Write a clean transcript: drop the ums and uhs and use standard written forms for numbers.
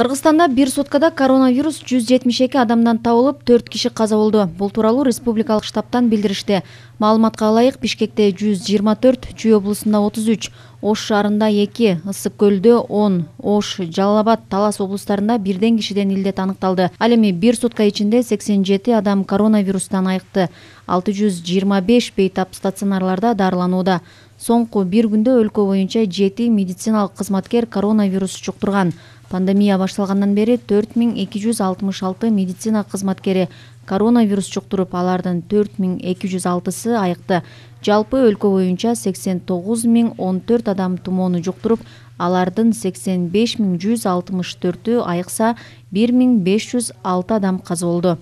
Кыргызстанда бир суткада коронавирус 172 адамдан табылып, 4 киши каза болду. Бул тууралуу республикалык штабтан билдиришти. Маалыматка ылайык, Бишкекте 124, Чүй облусунда 33, Ош шаарында 2, Ысык көлдө 10, Ош, Жалал Абад, Талас облустарында бирден кишиден илдет аныкталды. Ал эми бир сутка ичинде 87 адам коронавирустан айыкты. 625 бейтап стационарларда дарыланууда. Соңку бир күндө өлкө боюнча 7 медициналык кызматкер коронавирус жуктурган. Пандемия башталгандан бери 4266 медицина кызматкери коронавирус жуктуруп, алардын 4206-сы айыкты. Жалпы өлкө боюнча 89014 адам тумоону жуктуруп, алардын 85164-ü айыкса, 1506 адам каза болду.